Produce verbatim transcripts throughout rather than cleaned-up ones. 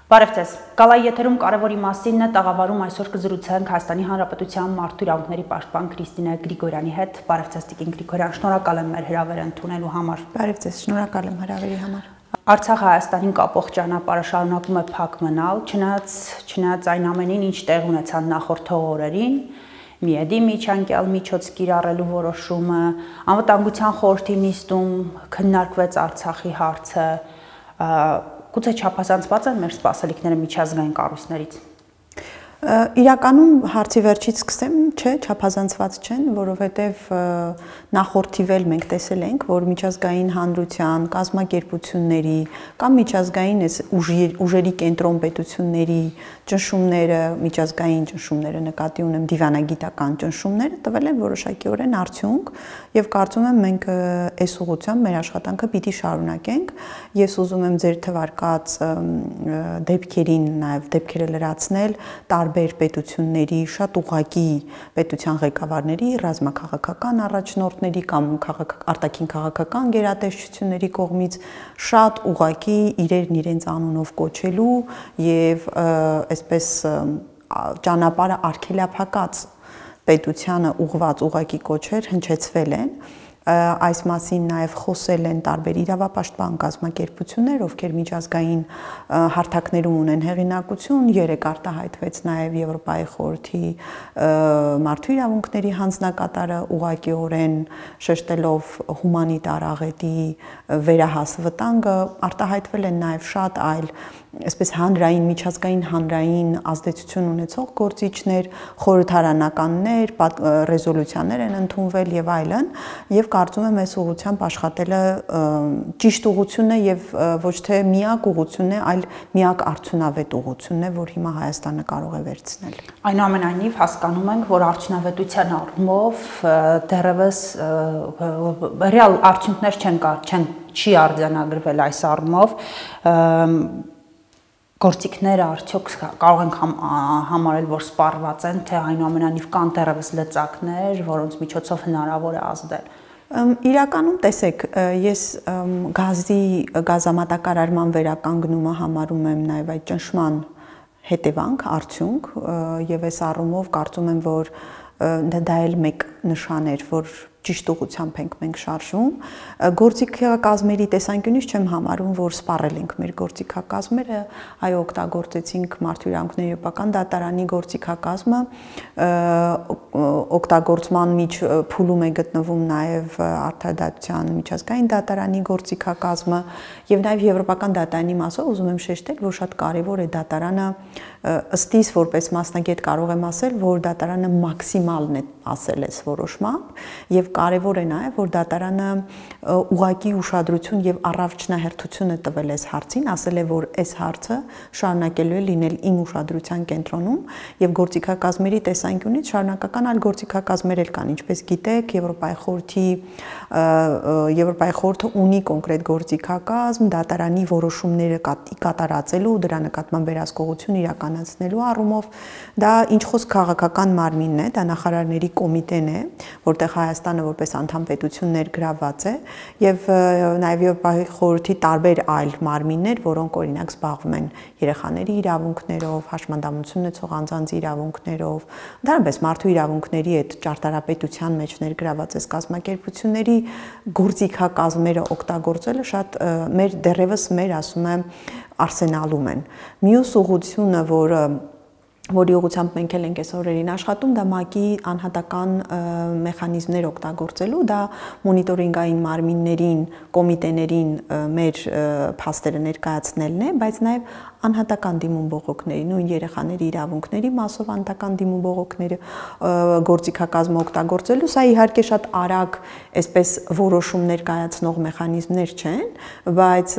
Բարև ձեզ։ Կալայի եթերում կարևորի մասին է տաղավարում այսօր կզրուցենք Հայաստանի Հանրապետության մարդու իրավունքների պաշտպան Քրիստինե Գրիգորյանի հետ։ Բարև ձեզ Տիկին Գրիգորյան, շնորհակալ եմ մեր հրավերը ընդունելու համար։ Բարև ձեզ, շնորհակալ եմ հրավերի համար։ Արցախը Հայաստանին կապող ճանապարհը շարունակում է փակ մնալ, չնայած չնայած այն ամենին, ինչ տեղ ունեցան նախորդ օրերին, Միեդի միջանկյալ միջոց կիրառելու որոշումը, անվտանգության խորհրդի նիստում քննարկվեց Արցախի հարցը, Գուցե չափազանցված են մեր սպասելիքները միջազգային կառույցներից։ Իրականում հարցի վերջից սկսեմ, չէ, չափազանցված չեն, որովհետև նախորդիվել մենք տեսել ենք, որ միջազգային հանրության, կազմակերպությունների կամ միջազգային ուժերի կենտրոն պետությունների ճնշումները, միջազգային ճնշումները նկատի ունեմ դիվանագիտական ճնշումները տվել են որոշակիորեն արդյունք եւ կարծում եմ մենք այս ուղղությամբ մեր աշխատանքը պիտի շարունակենք։ Ես ուզում եմ ձեր թվարկած դեպքերին նաեւ դեպքերը լրացնել տարբեր պետությունների շատ ուղղակի պետության ղեկավարների, ռազմաքաղաքական առաջնորդների կամ արտաքին քաղաքական գերատեսչությունների կողմից շատ ուղղակի իրերն իրենց անունով կոչելու եւ այսպես ճանապարհը արգելափակած պետությանը ուղղված ուղղակի կոչեր հնչեցվել են այս մասին նաև խոսել են տարբեր իրավապաշտպան կազմակերպություններ, ովքեր միջազգային հարթակներում ունեն հեղինակություն, երեք արտահայտվեց նաև Եվրոպայի խորհրդի մարդու իրավունքների հանձնակատարը ուղղակիորեն շեշտելով հումանիտար աղետի վերահաս վտանգը, արտահայտվել են նաև շատ այլ այսպես հանրային, միջազգային հանրային ազդեցություն ունեցող գործիչներ, խորհրդարանականներ, ռեզոլյուցիաներ են ընդունվել եւ այլն, եւ կարծում եմ այս ուղղությամբ աշխատելը ճիշտ ուղղությունն է եւ ոչ թե միակ ուղղությունն է, այլ միակ արդյունավետ ուղղությունն է, որ հիմա Հայաստանը կարող է վերցնել։ Այնուամենայնիվ հասկանում ենք, որ արդյունավետության առումով դեռևս ռեալ արդյունքներ չեն չեն չի արձանագրվել այս առումով Գործիքները արդյոք կարող ենք համարել, որ սպառված են, թե այնուամենայնիվ կան դեռևս լծակներ, որոնց միջոցով հնարավոր է ազդել։ Իրականում տեսեք, ես գազի գազամատակարարման վերականգնումը համարում եմ նաև այդ ճնշման հետևանք, արդյունք, եւ այս առումով կարծում եմ, որ դա էլ մեկ նշան էր, որ ճիշտ ուղղությամբ ենք մենք շարժվում։ Գործիքակազմերի տեսանկյունից չեմ համարում, որ սպառել ենք մեր գործիքակազմերը, այո, օգտագործեցինք մարդու իրավունքների եվրոպական դատարանի գործիքակազմը, օգտագործման միջ փուլում է գտնվում նաև արդարադատության միջազգային դատարանի գործիքակազմը եւ նաև եվրոպական դատարանի մասով ուզում եմ շեշտել, որ շատ կարեւոր է դատարանը ըստիս որպես մասնագետ կարող եմ ասել, որ դատարանը մաքսիմալն է ասել այս որոշմամբ եւ կարեւոր է նաեւ որ դատարանը ուղղակի ուշադրություն եւ առավելահերթություն է տվել այս հարցին, ասել է որ այս հարցը շարունակելու է լինել իմ ուշադրության կենտրոնում եւ գործիքակազմերի տեսանկյունից շարունակական այլ գործիքակազմեր էլ կան, ինչպես գիտեք, Եվրոպայի խորհրդի Եվրոպայի խորհուրդը ունի կոնկրետ գործիքակազմ, դատարանի որոշումները կատարածելու, դրա նկատմամբ վերահսկողություն իրականացնելու առումով դա ինչ խոսք քաղաքական մարմինն է, դա նախարարների կոմիտեն է, որտեղ Հայաստանը որպես անդամ պետություն ներգրավված է եւ նաեւ Եվրոպայի խորհրդի տարբեր այլ մարմիններ, որոնք օրինակ զբաղվում են երեխաների իրավունքներով, հաշմանդամություն ունեցող անձանց իրավունքներով, դրանպես մարդու իրավունքների այդ ճարտարապետության մեջ ներգրավված այս կազմակերպությունների գործիքակազմերը օգտագործելը շատ մեր դեռևս մեր ասում եմ արսենալում են։ Մյուս ուղղությունը, որը որի ուղղությամբ մենք էլ ենք այս օրերին աշխատում, դա ՄԱԿ-ի անհատական մեխանիզմներ օգտագործելու, դա մոնիտորինգային մարմիններին, կոմիտեներին մեր փաստերը ներկայացնելն է, բայց նաև անհատական դիմում բողոքների, նույն երեխաների իրավունքների մասով անհատական դիմում բողոքները գործիքակազմը օգտագործելու, սա իհարկե շատ արագ այսպես որոշումներ կայացնող մեխանիզմներ չեն, բայց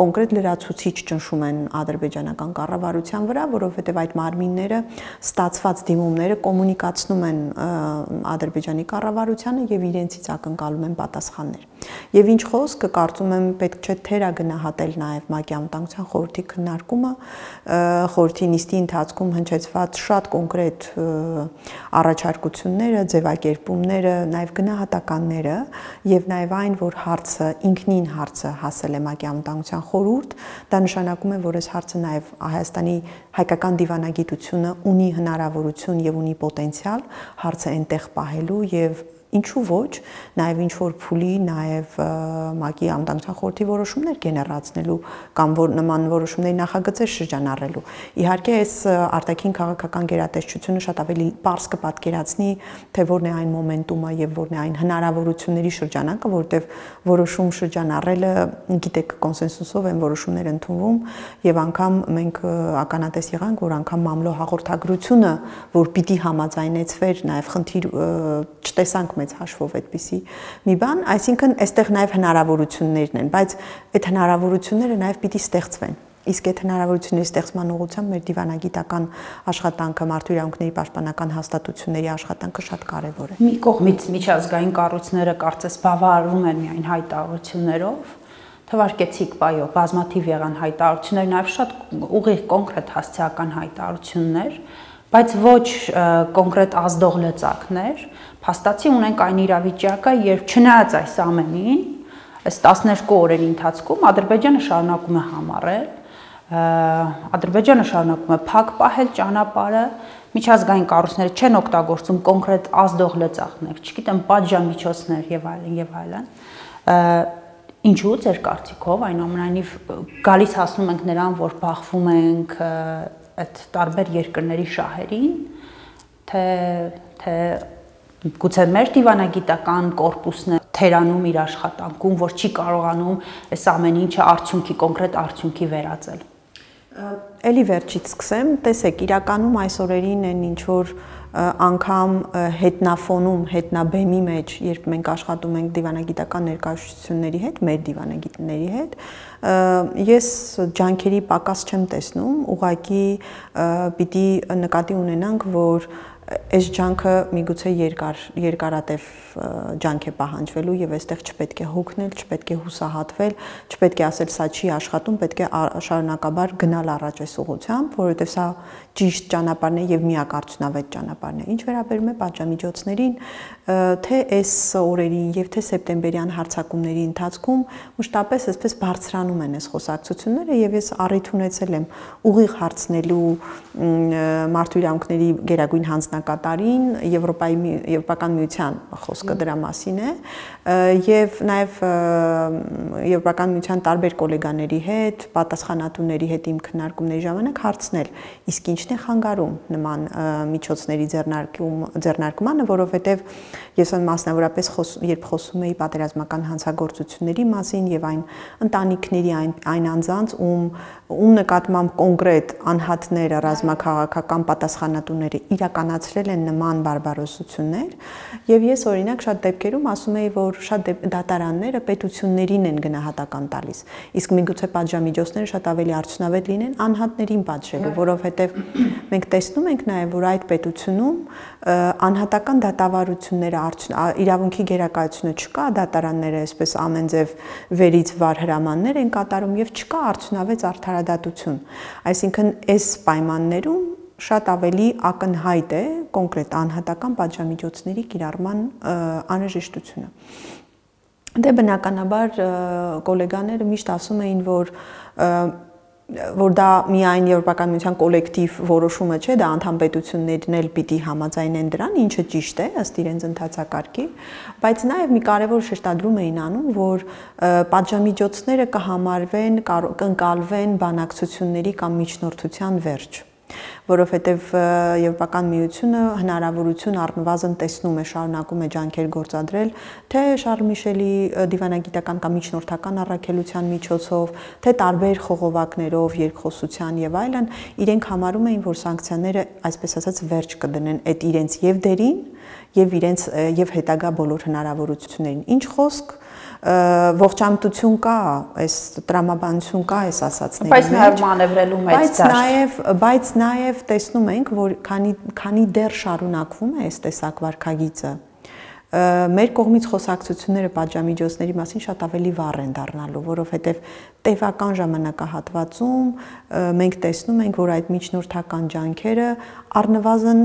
կոնկրետ լրացուցիչ ճնշում են ադրբեջանական կառավարության վրա, որովհետև այդ մարմին տարիները ստացված դիմումները կոմունիկացնում են Ադրբեջանի կառավարությանը եւ իրենցից ակնկալում են պատասխաններ։ Եվ ինչ խոսքը, կարծում եմ, պետք չէ թերագնահատել նաեւ ՄԱԿ-ի Անվտանգության խորհրդի քննարկումը, խորհրդի նիստի ընթացքում հնչեցված շատ կոնկրետ առաջարկությունները, ձևակերպումները, նաեւ գնահատականները եւ նաեւ այն, որ հարցը ինքնին հարցը հասել է ՄԱԿ-ի Անվտանգության խորհուրդ, դա նշանակում է, որ այս հարցը նաեւ Հայաստանի հայկական դիվանագիտությունը ունի հնարավորություն եւ ունի պոտենցիալ հարցը այնտեղ պահելու եւ ինչու ոչ, նաև ինչ որ փուլի, նաև ՄԱԿ-ի Անվտանգության խորհրդի որոշումներ գեներացնելու կամ որ նման որոշումների նախագծեր շրջանառելու։ Իհարկե, այս արտաքին քաղաքական գերատեսչությունը շատ ավելի պարզ կպատկերացնի, թե որն է այն մոմենտումը եւ որն է այն հնարավորությունների շրջանակը, որտեղ որոշում շրջանառելը, գիտեք, կոնսենսուսով են որոշումներ ընդունվում եւ անգամ մենք ականատես եղանք, որ անգամ մամլո հաղորդագրությունը, որ պիտի համաձայնեցվեր, նաև խնդիր չտեսանք մեծ հաշվով այդպիսի մի բան, այսինքն այստեղ նաև հնարավորություններն են, բայց այդ հնարավորությունները նաև պիտի ստեղծվեն։ Իսկ այդ հնարավորությունների ստեղծման ուղղությամբ մեր դիվանագիտական աշխատանքը, մարդու իրավունքների պաշտպանական հաստատությունների աշխատանքը շատ կարևոր է։ Մի կողմից միջազգային կառույցները կարծես բավարարում են միայն հայտարարություններով, թվարկեցիք բայո, բազմաթիվ եղան հայտարարություններ, նաև շատ ուղիղ կոնկրետ հասցեական հայտարարություններ, բայց ոչ կոնկրետ ազդող լծակներ, փաստացի ունենք այն իրավիճակը, երբ չնայած այս ամենին, այս տասներկու օրերի ընթացքում Ադրբեջանը շարունակում է համառել, Ադրբեջանը շարունակում է փակ պահել ճանապարհը, միջազգային կառույցները չեն օգտագործում կոնկրետ ազդող լծակներ, չգիտեմ, պատժամիջոցներ եւ այլն եւ այլն։ Ինչու ձեր կարծիքով, այնուամենայնիվ գալիս հասնում ենք նրան, որ բախվում ենք այդ տարբեր երկրների շահերին, թե թե գուցե մեր դիվանագիտական կորպուսն է թերանում իր աշխատանքում, որ չի կարողանում այս ամեն ինչը արդյունքի, կոնկրետ արդյունքի վերածել։ Էլի վերջից սկսեմ, տեսեք, իրականում այս օրերին են ինչ որ անգամ հետնաֆոնում, հետնաբեմի մեջ, երբ մենք աշխատում ենք դիվանագիտական ներկայացությունների հետ, մեր դիվանագիտների հետ, ես ջանքերի պակաս չեմ տեսնում, ուղղակի պիտի նկատի ունենանք, որ այս ջանքը միգուցե երկար երկարատև ջանք է պահանջվելու եւ այստեղ չպետք է հոգնել, չպետք է հուսահատվել, չպետք է ասել սա չի աշխատում, պետք է շարունակաբար գնալ առաջ այս ուղղությամբ, որովհետեւ սա ճիշտ ճանապարհն է եւ միակարծունավետ ճանապարհն է։ Ինչ վերաբերում է պատժամիջոցներին, թե այս օրերին եւ թե սեպտեմբերյան հարձակումների ընթացքում մշտապես այսպես բարձրանում են այս խոսակցությունները եւ ես առիթ ունեցել եմ ուղիղ հարցնելու մարդու իրավունքների գերագույն հանձնակատարին, Եվրոպայի Եվրոպական միության խոսքը դրա մասին է եւ նաեւ Եվրոպական միության տարբեր գոլեգաների հետ, պատասխանատուների հետ իմ քննարկումների ժամանակ հարցնել, իսկ ինչն է խանգարում նման միջոցների ձեռնարկում ձեռնարկմանը, որովհետեւ ես մասնավորապես երբ խոսում էի պատերազմական հանցագործությունների մասին եւ այն ընտանիքների այն այն անձանց, ում ում նկատմամբ կոնկրետ անհատները, ռազմաքաղաքական պատասխանատուները իրականացրել են նման բարբարոսություններ եւ ես օրինակ շատ դեպքերում ասում էի, որ շատ դատարանները պետություններին են գնահատական տալիս, իսկ միգուցե պատժամիջոցները շատ ավելի արդյունավետ լինեն անհատներին պատժելու, որովհետեւ մենք տեսնում ենք նաեւ, որ այդ պետությունում անհատական դատավարությունները, իրավունքի գերակայությունը չկա, դատարանները այսպես ամենձև վերից վար հրամաններ են կատարում եւ չկա արդյունավետ արդարադատություն։ Այսինքն այս պայմաններում շատ ավելի ակնհայտ է կոնկրետ անհատական պատժամիջոցների կիրառման անհրաժեշտությունը։ Դե բնականաբար գոլեգաները միշտ ասում էին, որ որ դա միայն Եվրոպական միության կոլեկտիվ որոշումը չէ, դա անդամ պետություններն էլ պիտի համաձայնեն դրան, ինչը ճիշտ է ըստ իրենց ընթացակարգի, բայց նաև մի կարևոր շեշտադրում էին անում, որ պատժամիջոցները կհամարվեն, կընկալվեն բանակցությունների կամ միջնորդության վերջ, որովհետև Եվրոպական միությունը հնարավորություն առնվազն տեսնում է, շարունակում է ջանքեր գործադրել, թե Շարլ Միշելի դիվանագիտական կամ միջնորդական առաքելության միջոցով, թե տարբեր խողովակներով, երկխոսության եւ այլն, իրենք համարում էին, որ սանկցիաները, այսպես ասած, վերջ կդնեն այդ իրենց եւ դերին եւ իրենց եւ հետագա բոլոր հնարավորություններին։ Ինչ խոսք ողջամտություն կա, այս տրամաբանություն կա այս ասածների մեջ, բայց նաև մանևրելու մեծ դաշտ։ Բայց նաև տեսնում ենք, որ քանի քանի դեռ շարունակվում է այս տեսակ վարքագիծը, մեր կողմից խոսակցությունները պատժամիջոցների մասին շատ ավելի վառ են դառնալու, որովհետև տևական ժամանակահատվածում մենք տեսնում ենք, որ այդ միջնորդական ջանքերը առնվազն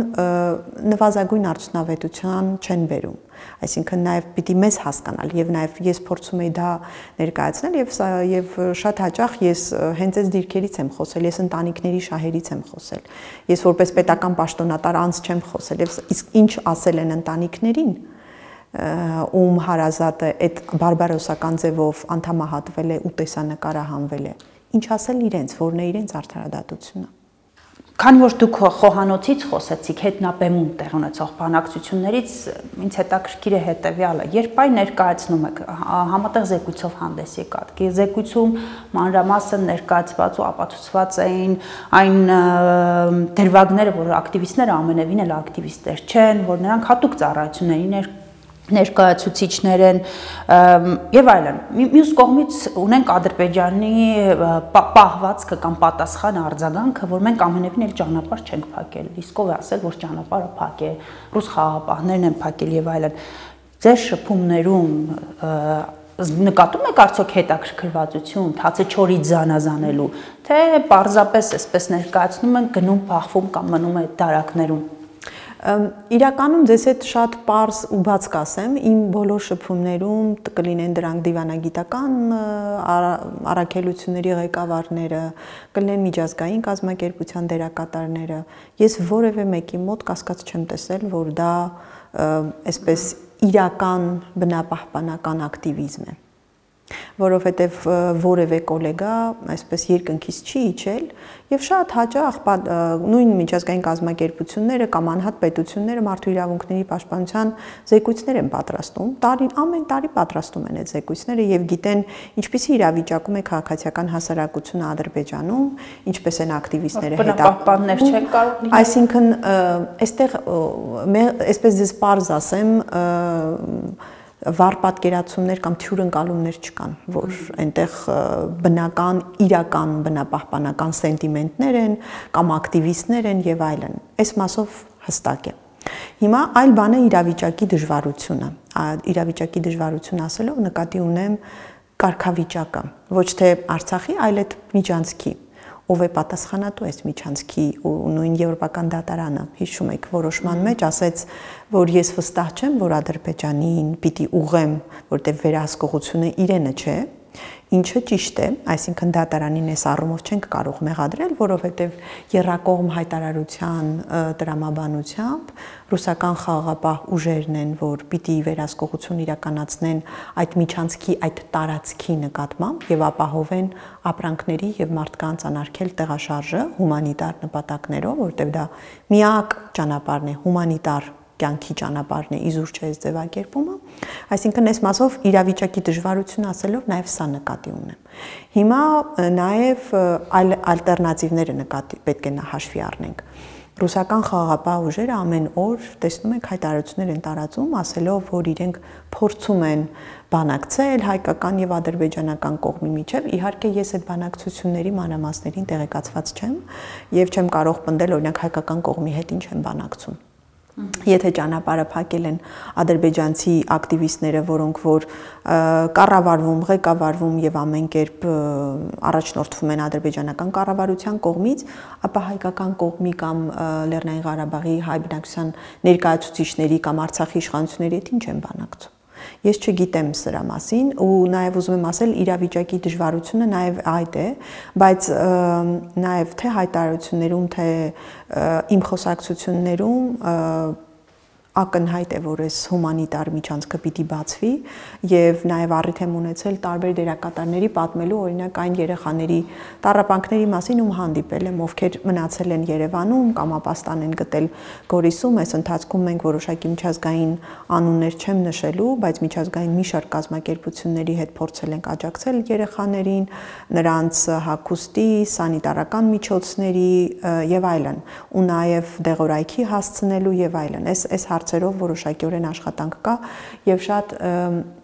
նվազագույն արդյունավետության չեն բերում։ Այսինքն նաև պիտի մեզ հասկանալ եւ նաև ես փորձում եի դա ներկայացնել եւ եւ շատ հաճախ ես հենց այս դիրքերից եմ խոսել, ես ընտանիքների շահերից եմ խոսել։ Ես որպես պետական պաշտոնատար անց չեմ խոսել եւ իսկ ինչ ասել են ընտանիքներին, ում հարազատը այդ բարբարոսական ձևով անդամահատվել է ու տեսանկարահանվել է, ինչ ասել իրենց, որն է իրենց արդարադատությունը։ Քանի որ դուք խոհանոցից խոսեցիք, հետնաբեմում տեղ ունեցող բանակցություններից, ինձ հետաքրքիր է հետևյալը, երբ այն ներկայացնում եք, համատեղ զեկույցով հանդես եկաք, զեկույցում մանրամասն ներկայացված ու ապացուցված էին այն դրվագները, որ ակտիվիստները ամենևին էլ ակտիվիստներ չեն, որ նրանք հատուկ ծառայությունների ներկայացուցիչներ են եւ այլն։ Մյուս կողմից ունենք Ադրբեջանի պահվածքը կամ պատասխան արձագանքը, որ մենք ամենևին էլ ճանապարհ չենք փակել, իսկ ով է ասել, որ ճանապարհը փակ է, ռուս խաղաղապահներն են փակել եւ այլն։ Ձեր շփումներում նկատում եք արդյոք հետաքրքրվածություն, թացը չորից զանազանելու, թե պարզապես այսպես ներկայացնում են, գնում, փախվում կամ մնում է դարակներում։ Իրականում ձեզ հետ շատ պարզ ու բաց կասեմ, իմ բոլոր շփումներում կլինեն դրանք դիվանագիտական առաքելությունների ղեկավարները, կլինեն միջազգային կազմակերպության դերակատարները, ես որևէ մեկի մոտ կասկած չեմ տեսել, որ դա այսպես իրական բնապահպանական ակտիվիզմ է, որովհետև որևէ գոլեգա այսպես երկնքից չի իջել եւ շատ հաճախ նույն միջազգային կազմակերպությունները կամ անհատ պետությունները մարդու իրավունքների պաշտպանության զեկույցներ են պատրաստում, տարին ամեն տարի պատրաստում են այդ զեկույցները եւ գիտեն ինչպիսի իրավիճակում է քաղաքացիական հասարակությունը Ադրբեջանում, ինչպես են ակտիվիստները հետապահպաններ չեն կարող լինել, այսինքն այստեղ այսպես ձեզ պարզ ասեմ վառ պատկերացումներ կամ թյուրընկալումներ չկան, որ այնտեղ բնական, իրական բնապահպանական սենտիմենտներ են կամ ակտիվիստներ են եւ այլն։ Այս մասով հստակ է։ Հիմա այլ բան է իրավիճակի դժվարությունը։ Իրավիճակի դժվարություն ասելով նկատի ունեմ կարգավիճակը, ոչ թե Արցախի, այլ այդ միջանցքի, ով է պատասխանատու այս միջանցքի ու նույն եվրոպական դատարանը, հիշում եք, որոշման մեջ ասեց, որ ես վստահ չեմ, որ Ադրբեջանին պիտի ուղեմ, որտեղ վերահսկողությունը իրենը չէ, ինչը ճիշտ է, այսինքն դատարանին այս առումով չենք կարող մեղադրել, որովհետև եռակողմ հայտարարության տրամաբանությամբ ռուսական խաղաղապահ ուժերն են, որ պիտի վերահսկողություն իրականացնեն այդ միջանցքի, այդ տարածքի նկատմամբ եւ ապահովեն ապրանքների եւ մարդկանց անարգել տեղաշարժը հումանիտար նպատակներով, որտեղ դա միակ ճանապարհն է, հումանիտար կյանքի ճանապարհն է, իզուր չէ այս ձևակերպումը, այսինքն այս մասով իրավիճակի դժվարություն ասելով նաև սա նկատի ունեմ։ Հիմա նաև այլ ալտերնատիվները նկատի պետք է հաշվի առնենք։ Ռուսական խաղաղապահ ուժերը ամեն օր տեսնում եք հայտարարություններ են տարածում, ասելով, որ իրենք փորձում են բանակցել հայկական եւ ադրբեջանական կողմի միջև։ Իհարկե ես այդ բանակցությունների մանրամասներին տեղեկացված չեմ եւ չեմ կարող պնդել օրինակ հայկական կողմի հետ ինչ են բանակցում։ Եթե ճանապարհը փակել են ադրբեջանցի ակտիվիստները, որոնք որ կառավարվում, ղեկավարվում եւ ամեն կերպ առաջնորդվում են ադրբեջանական կառավարության կողմից, ապա հայկական կողմի կամ Լեռնային Ղարաբաղի հայ բնակչության ներկայացուցիչների կամ Արցախի իշխանությունների հետ ինչ են բանակցում։ Ես չգիտեմ սրա մասին ու նաև ուզում եմ ասել իրավիճակի դժվարությունը նաև այդ է, բայց նաև թե հայտարարություններում, թե իմ խոսակցություններում ակնհայտ է, որ այս հումանիտար միջանցքը պիտի բացվի եւ նաեւ առիթ եմ ունեցել տարբեր դերակատարների պատմելու օրինակ այն երեխաների տառապանքների մասին, ում հանդիպել եմ, ովքեր մնացել են Երևանում կամ ապաստան են գտել Գորիսում, այս ընթացքում մենք որոշակի միջազգային անուններ չեմ նշելու, բայց միջազգային մի շարք կազմակերպությունների հետ փորձել ենք աջակցել երեխաներին, նրանց հագուստի, սանիտարական միջոցների եւ այլն, ու նաեւ դեղորայքի հասցնելու եւ այլն։ Այս այս հարցերով որոշակիորեն աշխատանք կա եւ շատ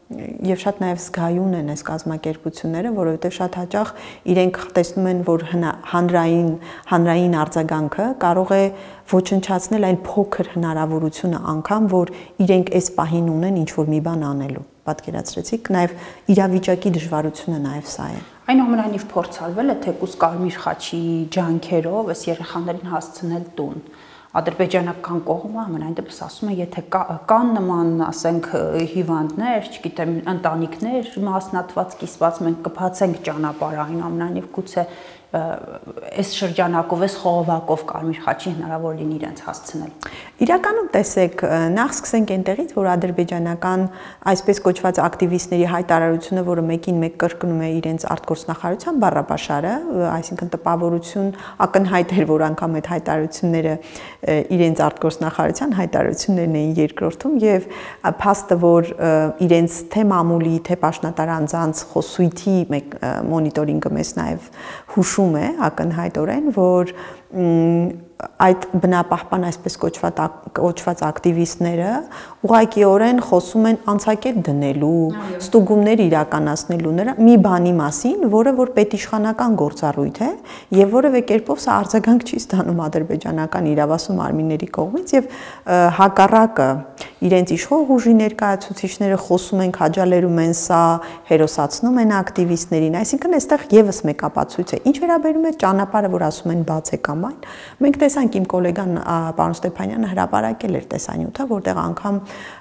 եւ շատ նաեւ զգայուն են այս կազմակերպությունները, որովհետեւ շատ հաճախ իրենք տեսնում են, որ հանրային հանրային արձագանքը կարող է ոչնչացնել այն փոքր հնարավորությունը անգամ, որ իրենք այս պահին ունեն ինչ որ մի բան անելու։ Պատկերացրեցիք, նաեւ իրավիճակի դժվարությունը նաեւ սա է։ Այնուամենայնիվ փորձալվել է թեկուզ Կարմիր խաչի ջանքերով այս երեխաներին հասցնել տուն։ Ադրբեջանական կողմը ամենայն դեպս ասում է, եթե կան նման, ասենք, հիվանդներ, չգիտեմ, ընտանիքներ մասնատված, կիսված, մենք կբացենք ճանապարհը, այնուամենայնիվ գուցե այս շրջանակով, այս խողովակով Կարմիր խաչի հնարավոր լինի իրենց հասցնել։ Իրականում տեսեք, նախ սկսենք այնտեղից, որ ադրբեջանական այսպես կոչված ակտիվիստների հայտարարությունը, որը մեկին մեկ կրկնում է իրենց արտգործնախարարության բառապաշարը, այսինքն տպավորություն ակնհայտ էր, որ անգամ այդ հայտարարությունները իրենց արտգործնախարարության հայտարարություններն էին երկրորդում եւ փաստը, որ իրենց թե մամուլի, թե պաշտոնատար անձանց խոսույթի մեկ մոնիտորինգը մեզ նաեւ հուշում է ակնհայտորեն, որ այդ բնապահպան այսպես կոչված կոչված ակտիվիստները ուղղակիորեն խոսում են անցակետ դնելու, ստուգումներ իրականացնելու նրա մի բանի մասին, որը որ պետիշխանական գործառույթ է եւ որևէ կերպով սա արձագանք չի ստանում ադրբեջանական իրավասու մարմինների կողմից եւ հակառակը իրենց իշխող ուժի ներկայացուցիչները խոսում են, քաջալերում են սա, հերոսացնում են ակտիվիստներին, այսինքն այստեղ եւս մեկ ապացույց է։ Ինչ վերաբերում է ճանապարհը, որ ասում են բաց է կամ այն, մենք տեսանք իմ գոլեգան պարոն Ստեփանյանը հրապարակել էր տեսանյութը, որտեղ անգամ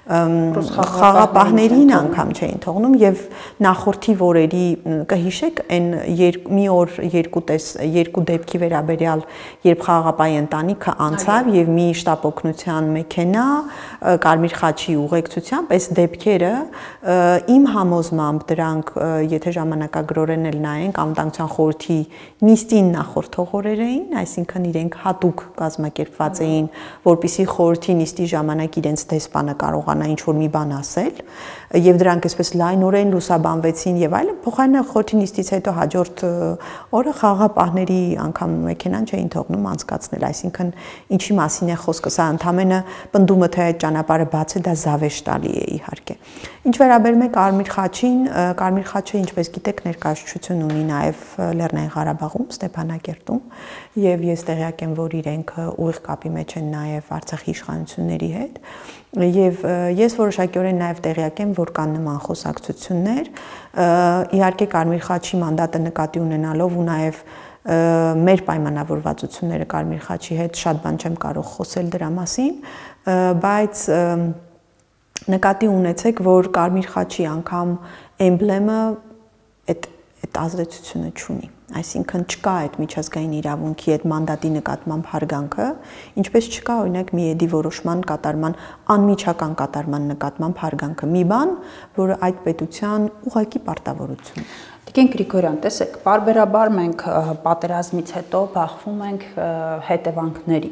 խաղապահներին անգամ չէին թողնում եւ նախորդի օրերի կհիշեք այն մի օր երկու տես երկու դեպքի վերաբերյալ, երբ խաղապահի ընտանիքը անցավ եւ մի շտապօգնության մեքենա Կարմիր խաչի ուղեկցությամբ, այս դեպքերը իմ համոզմամբ դրանք, եթե ժամանակագրորեն էլ նայենք, անվտանգության խորհրդի նիստին նախորդող օրեր էին, այսինքն իրենք հատուկ կազմակերպված էին, որպեսզի խորհրդի նիստի ժամանակ իրենց դեսպանը կարողանա ինչ-որ մի բան ասել, եւ դրանք այսպես լայնորեն լուսաբանվեցին եւ այլն, փոխարենը խորհրդի նիստից հետո հաջորդ օրը խաղապահների անգամ մեքենան չէին թողնում անցկացնել, այսինքն ինչի մասին է խոսքը, սա ընդամենը պնդումը թե այդ ճանապարհը բաց է, դա զավեշտալի է իհարկե։ Ինչ վերաբերում է Կարմիր խաչին, Կարմիր խաչը, ինչպես գիտեք, ներկայացություն ունի նաեւ Լեռնային Ղարաբաղում, Ստեփանակերտում, եւ ես տեղյակ եմ, որ իրենք ուղիղ կապի մեջ են նաեւ Արցախի իշխանությունների հետ, եւ ես որոշակիորեն նաեւ տեղյակ եմ, որ կան նման խոսակցություններ, իհարկե Կարմիր խաչի մանդատը նկատի ունենալով ու նաեւ մեր պայմանավորվածությունները Կարմիր խաչի հետ շատ բան չեմ կարող խոսել դրա մասին, բայց նկատի ունեցեք, որ Կարմիր խաչի անգամ էմբլեմը այդ այդ ազդեցությունը չունի, այսինքն չկա այդ միջազգային իրավունքի այդ մանդատի նկատմամբ հարգանքը, ինչպես չկա օրինակ Միեդի որոշման կատարման անմիջական կատարման նկատմամբ հարգանքը, մի բան, որը այդ պետության ուղղակի պարտավորություն է։ Տիկին Գրիգորյան, տեսեք, բարբերաբար մենք պատերազմից հետո բախվում ենք հետևանքների։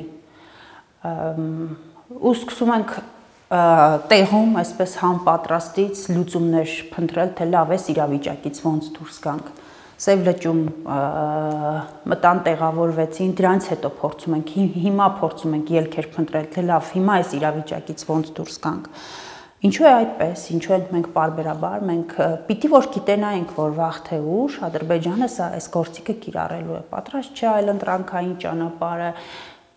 Ու սկսում ենք տեղում այսպես համապատրաստից լուծումներ փնտրել, թե լավ է իրավիճակից ոնց դուրս գանք։ Սև լճում մտան տեղավորվեցին, դրանից հետո փորձում ենք, հիմա փորձում ենք ելքեր փնտրել, թե լավ, հիմա այս իրավիճակից ոնց դուրս գանք։ Ինչու է այդպես, ինչու ենք մենք բարբերաբար, մենք պիտի որ գիտենայինք, որ վաղ թե ուշ Ադրբեջանը սա այս գործիքը կիրառելու է, պատրաստ չէ այլ ընտրանքային ճանապարհը,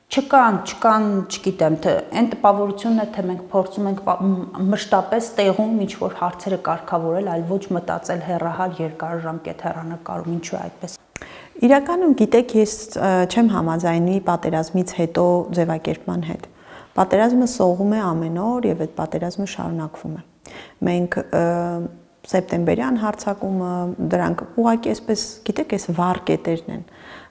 չկան, չկան, չգիտեմ, թե այն տպավորությունն է, թե մենք փորձում ենք մշտապես տեղում ինչ-որ հարցերը կարգավորել, այլ ոչ մտածել հեռահար երկարաժամկետ հեռանկարում, ինչու է այդպես։ Իրականում գիտեք, ես չեմ համաձայնի պատերազմից հետո ձևակերպման հետ։ Պատերազմը սողում է ամեն օր եւ այդ պատերազմը շարունակվում է։ Մենք սեպտեմբերյան հարձակումը, դրանք ուղղակի այսպես, գիտեք, այս վառ կետերն են,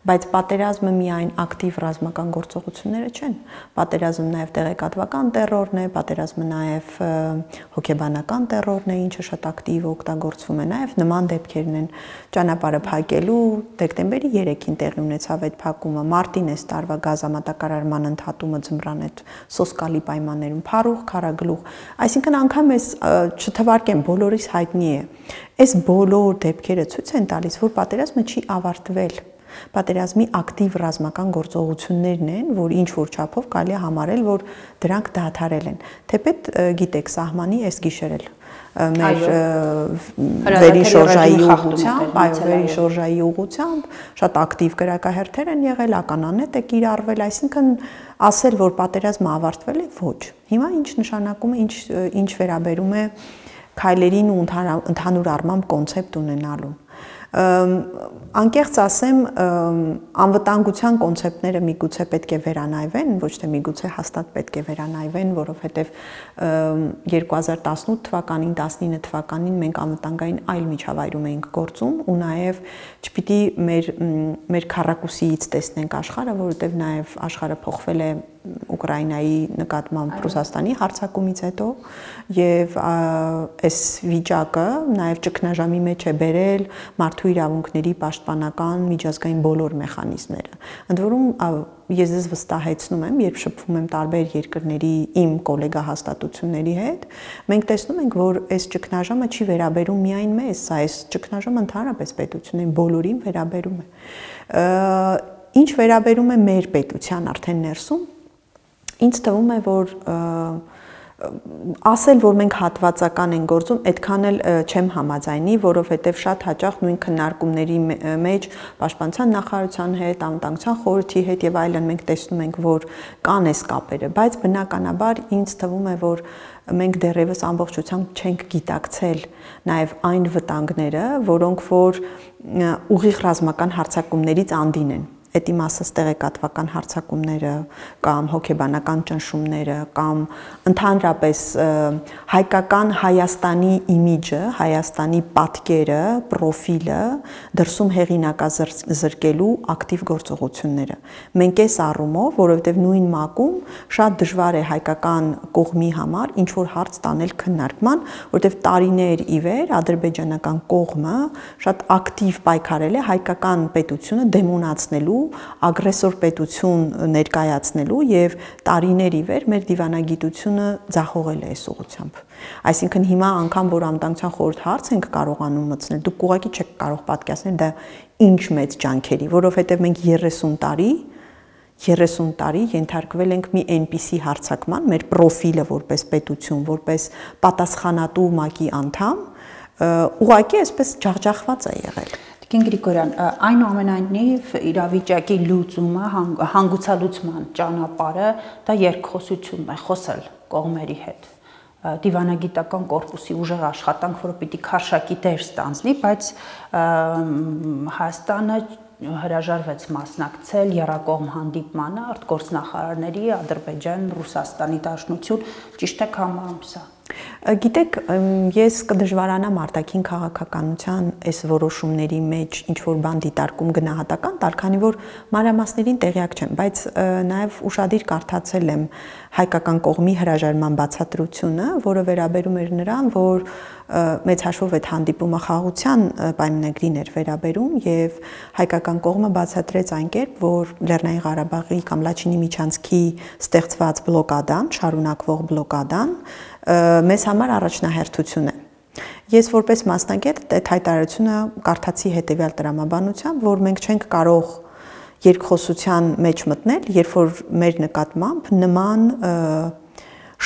բայց պատերազմը միայն ակտիվ ռազմական գործողությունները չեն, պատերազմը նաև տեղեկատվական տերորն է, պատերազմը նաև հոգեբանական տերորն է, ինչը շատ ակտիվ օգտագործվում է, նաև նման դեպքերն են ճանապարհը փակելու, դեկտեմբերի երեքին տեղի ունեցավ այդ փակումը, մարտին այս տարվա գազամատակարարման ընդհատումը ձմռան այդ սոսկալի պայմաններում, փառուղ, քարագլուխ, այսինքն անգամ այս չթվարկեմ, բոլորիս հայտնի է, այս բոլոր դեպքերը ցույց են տալիս, որ պատերազմը չի ավարտվել։ Պատերազմի ակտիվ ռազմական գործողություններն են, որ ինչ որ չափով կարելի է համարել, որ դրանք դադարել են։ Թեպետ գիտեք, սահմանի այս գիշեր էլ մեր վերիշորժայի ուղղությամբ, այո, վերիշորժայի ուղղությամբ շատ ակտիվ գրակահերթեր են եղել, ականանետ է կիրառվել, այսինքն ասել, որ պատերազմը ավարտվել է, ոչ։ Հիմա ինչ նշանակում է, ինչ ինչ վերաբերում է քայլերին ու ընդհանուր առմամբ կոնցեպտ ունենալուն։ Անկեղծ ասեմ, անվտանգության կոնցեպտները միգուցե պետք է վերանայվեն, ոչ թե միգուցե հաստատ պետք է վերանայվեն, որովհետև երկու հազար տասնութ թվականին, տասնինը թվականին մենք անվտանգային այլ միջավայրում էինք գործում ու նաև չպիտի մեր մեր քառակուսիից տեսնենք աշխարհը, որովհետև նաև աշխարհը փոխվել է Ուկրաինայի նկատմամբ Ռուսաստանի հարձակումից հետո եւ այս վիճակը նաեւ ճգնաժամի մեջ է բերել մարդու իրավունքների պաշտպանական միջազգային բոլոր մեխանիզմները։ Ընդ որում ես ձեզ վստահեցնում եմ, երբ շփվում եմ տարբեր երկրների իմ գոլեգա հաստատությունների հետ, մենք տեսնում ենք, որ այս ճգնաժամը չի վերաբերում միայն մեզ, այս ճգնաժամը ընդհանրապես պետություններին բոլորին վերաբերում է։ Ինչ վերաբերում է մեր պետության արդեն ներսում, ինձ թվում է, որ ասել, որ մենք հատվածական են գործում, այդքան էլ չեմ համաձայնի, որովհետև շատ հաճախ նույն քննարկումների մեջ պաշտպանության նախարարության հետ, անվտանգության խորհրդի հետ եւ այլն մենք տեսնում ենք, որ կան այս կապերը, բայց բնականաբար ինձ թվում է, որ մենք դեռևս ամբողջությամբ չենք գիտակցել նաեւ այն վտանգները, որոնք որ ուղիղ ռազմական հարձակումներից անդին են։ Այդ իմաստով տեղեկատվական հարձակումները կամ հոգեբանական ճնշումները կամ ընդհանրապես հայկական Հայաստանի իմիջը, Հայաստանի պատկերը, պրոֆիլը դրսում հեղինակազրկելու ակտիվ գործողությունները։ Մենք այս առումով, որովհետև նույն մակում շատ դժվար է հայկական կողմի համար ինչ որ հարց տանել քննարկման, որովհետև տարիներ ի վեր ադրբեջանական կողմը շատ ակտիվ պայքարել է հայկական պետությունը դեմոնացնելու ագրեսոր պետություն ներկայացնելու եւ տարիներ ի վեր մեր դիվանագիտությունը ձախողել է այս ուղղությամբ։ Այսինքն հիմա անգամ որ անվտանգության խորհուրդ հարց ենք կարողանում մտցնել, դուք ուղղակի չեք կարող պատկերացնել դա ինչ մեծ ջանքերի, որովհետեւ մենք երեսուն տարի երեսուն տարի ենթարկվել ենք մի այնպիսի հարձակման, մեր պրոֆիլը որպես պետություն, որպես պատասխանատու ՄԱԿ-ի անդամ, ուղղակի այսպես ջախջախված է եղել։ Տիկին Գրիգորյան, այնուամենայնիվ իրավիճակի լուծումը, հանգուցալուծման ճանապարհը դա երկխոսությունն է, խոսել կողմերի հետ։ Դիվանագիտական կորպուսի ուժեղ աշխատանք, որը պիտի քարշակի դեր ստանձնի, բայց Հայաստանը հրաժարվեց մասնակցել եռակողմ հանդիպմանը արտգործնախարարների Ադրբեջան, Ռուսաստանի Դաշնություն, ճիշտ է համարում սա։ Գիտեք, ես կդժվարանամ արտաքին քաղաքականության այս որոշումների մեջ ինչ որ բան դիտարկում գնահատական տալ, քանի որ մանրամասներին տեղյակ չեմ, բայց նաև ուշադիր կարդացել եմ հայկական կողմի հրաժարման բացատրությունը, որը վերաբերում էր նրան, որ մեծ հաշվով այդ հանդիպումը խաղաղության պայմանագրին էր վերաբերում եւ հայկական կողմը բացատրեց այն կերպ, որ Լեռնային Ղարաբաղի կամ Լաչինի միջանցքի ստեղծված բլոկադան, շարունակվող բլոկադան մեզ համար առաջնահերթություն է։ Ես որպես մասնագետ այդ հայտարարությունը կարդացի հետեւյալ տրամաբանությամբ, որ մենք չենք կարող երկխոսության մեջ մտնել, երբ որ մեր նկատմամբ նման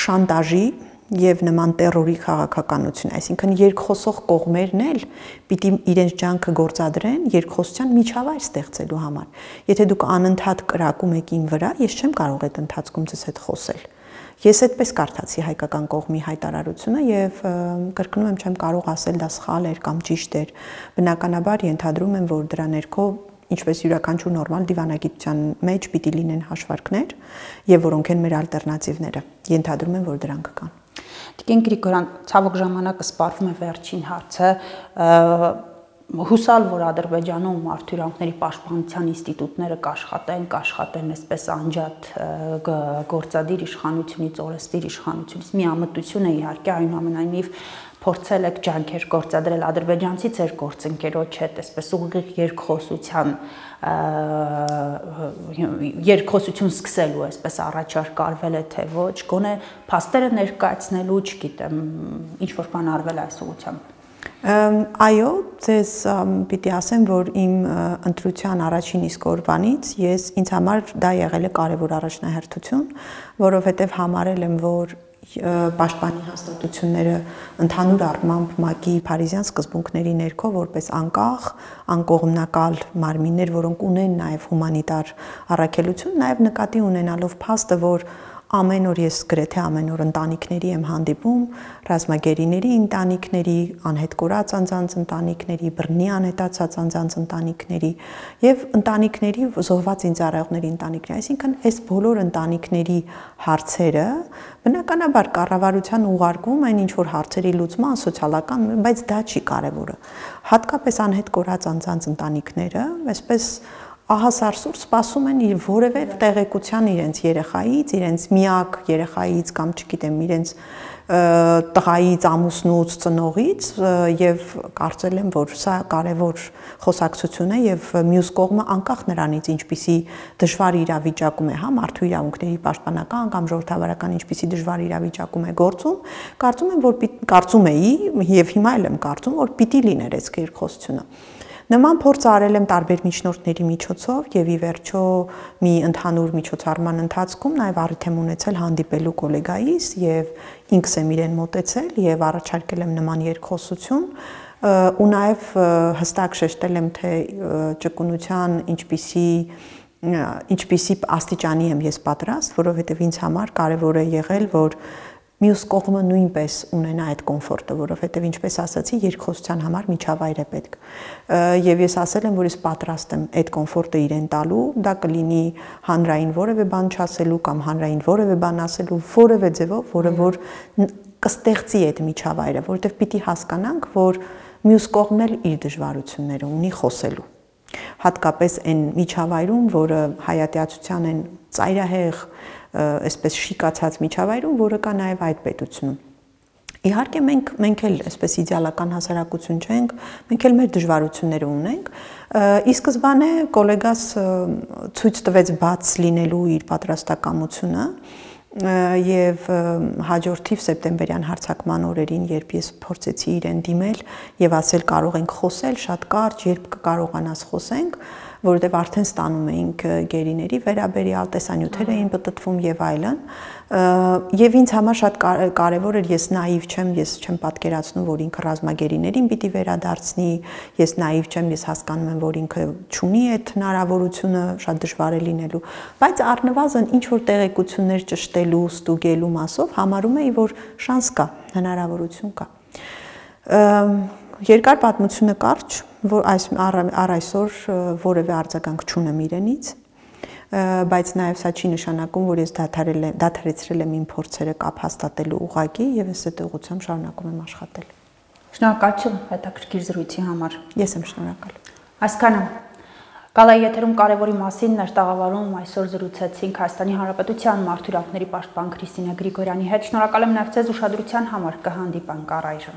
շանտաժի եւ նման terror-ի քաղաքականություն, այսինքն երկխոսող կողմերն էլ պիտի իրենց ջանքը գործադրեն երկխոսության միջավայր ստեղծելու համար։ Եթե դուք անընդհատ կրակում եք իմ վրա, ես չեմ կարող այդ ընթացքում ձեզ հետ խոսել։ Ես այդպես կարդացի հայկական կողմի հայտարարությունը եւ կրկնում եմ, չեմ կարող ասել դա սխալ էր կամ ճիշտ էր։ Բնականաբար ենթադրում եմ, որ դրա ներքո ինչպես յուրաքանչյուր նորմալ դիվանագիտության մեջ պիտի լինեն հաշվարկներ եւ որոնք են մեր ալտերնատիվները։ Ենթադրում եմ, որ դրանք կան։ Տիկին Գրիգորյան, ցավոք ժամանակը սպառվում է վերջին հարցը, հուսալ, որ Ադրբեջանում մարդու իրավունքների պաշտպանության ինստիտուտները կաշխատեն, կաշխատեն այսպես անջատ գործադիր իշխանությունից, օրենսդիր իշխանությունից, միամտություն է իհարկե, այնուամենայնիվ փորձել եք ջանքեր գործադրել ադրբեջանցի ձեր գործընկերոջ հետ, այսպես ուղիղ երկխոսության երկխոսություն սկսելու, այսպես առաջարկ արվել է թե ոչ, գոնե փաստերը ներկայացնելու, չգիտեմ, ինչ որ բան արվել այս ուղղությամբ։ Այո, ձեզ պիտի ասեմ, որ իմ ընտրության առաջին իսկ օրվանից ես ինձ համար դա եղել է կարևոր առաջնահերթություն, որովհետև համարել եմ, որ պաշտպանի հաստատությունները ընդհանուր առմամբ ՄԱԿ-ի Փարիզյան սկզբունքների ներքո որպես անկախ, անկողմնակալ մարմիններ, որոնք ունեն նաև հումանիտար առաքելություն, նաև նկատի ունենալով փաստը, որ ամեն օր ես գրեթե ամեն օր ընտանիքների եմ հանդիպում, ռազմագերիների ընտանիքների, անհետ կորած անձանց ընտանիքների, բռնի անհետացած անձանց ընտանիքների եւ ընտանիքների զոհված ինձարայողների ընտանիքների, այսինքն այս բոլոր ընտանիքների հարցերը բնականաբար կառավարության ուղարկում են ինչ որ հարցերի լուծման սոցիալական, բայց դա չի կարևորը։ Հատկապես անհետ կորած անձանց ընտանիքները, այսպես ահասարսուր սպասում են իր որևէ տեղեկության իրենց երեխայից, իրենց միակ երեխայից կամ չգիտեմ, իրենց տղայից, ամուսնուց, ծնողից եւ կարծել եմ, որ սա կարևոր խոսակցություն է եւ մյուս կողմը անկախ նրանից ինչպիսի դժվար իրավիճակում է, հա, մարդու իրավունքների պաշտպանական կամ ժողովրդավարական ինչպիսի դժվար իրավիճակում է գործում, կարծում եմ, որ կարծում էի եւ հիմա էլ եմ կարծում, որ պիտի լիներ այս երկխոսությունը։ Նման փորձ արել եմ տարբեր միջնորդների միջոցով եւ ի վերջո մի ընդհանուր միջոցառման ընթացքում նաեւ առիթ եմ ունեցել հանդիպելու գոլեգայիս եւ ինքս եմ իրեն մոտեցել եւ առաջարկել եմ նման երկխոսություն ու նաեւ հստակ շեշտել եմ թե ճկունության ինչպիսի ինչպիսի աստիճանի եմ ես պատրաստ, որովհետեւ ինձ համար կարեւոր է եղել, որ մյուս կողմը նույնպես ունենա այդ կոմֆորտը, որովհետև ինչպես ասացի, երկխոսության համար միջավայր է պետք։ Եվ ես ասել եմ, որ ես պատրաստ եմ այդ կոմֆորտը իրեն տալու, դա կլինի հանրային որևէ բան չասելու կամ հանրային որևէ բան ասելու, որևէ ձևով, որը որ կստեղծի այդ միջավայրը, որովհետև պիտի հասկանանք, որ մյուս կողմն էլ իր դժվարությունները ունի խոսելու։ Հատկապես այն միջավայրում, որը հայատյացության են ծայրահեղ այսպես շիկացած միջավայրում, որը կա նաև այդ պետությունում։ Իհարկե մենք մենք էլ այսպես իդեալական հասարակություն չենք, մենք էլ մեր դժվարությունները ունենք։ Ի սկզբանե գոլեգաս ցույց տվեց բաց լինելու իր պատրաստակամությունը եւ հաջորդիվ սեպտեմբերյան հարձակման օրերին, երբ ես փորձեցի իրեն դիմել եւ ասել կարող ենք խոսել շատ կարճ, երբ կկարողանաս խոսենք, որովհետև արդեն ստանում էինք գերիների վերաբերյալ տեսանյութեր էին պտտվում եւ այլն, եւ ինձ համար շատ կարեւոր էր, ես նաիվ չեմ, ես չեմ պատկերացնում, որ ինքը ռազմագերիներին պիտի վերադարձնի, ես նաիվ չեմ, ես հասկանում եմ, որ ինքը չունի այդ հնարավորությունը, շատ դժվար է լինելու, բայց առնվազն ինչ որ տեղեկություններ ճշտելու, ստուգելու մասով համարում էի, որ շանս կա, հնարավորություն կա։ Երկար պատմությունը կարճ, որ այս առ այսօր որևէ արձագանք չունեմ իրենից, բայց նաև սա չի նշանակում, որ ես դադարել եմ, դադարեցրել եմ իմ փորձերը կապ հաստատելու ուղղակի եւ ես այդ ուղղությամբ շարունակում եմ աշխատել։ Շնորհակալություն հետաքրքիր զրույցի համար։ Ես եմ շնորհակալ։ Այսքանը Գալայի եթերում կարևորի մասին ներտաղավարում այսօր զրուցեցինք Հայաստանի Հանրապետության մարդու իրավունքների պաշտպան Քրիստինա Գրիգորյանի հետ։ Շնորհակալ եմ նաև ձեզ ուշադրության համար, կհանդիպանք առայժմ։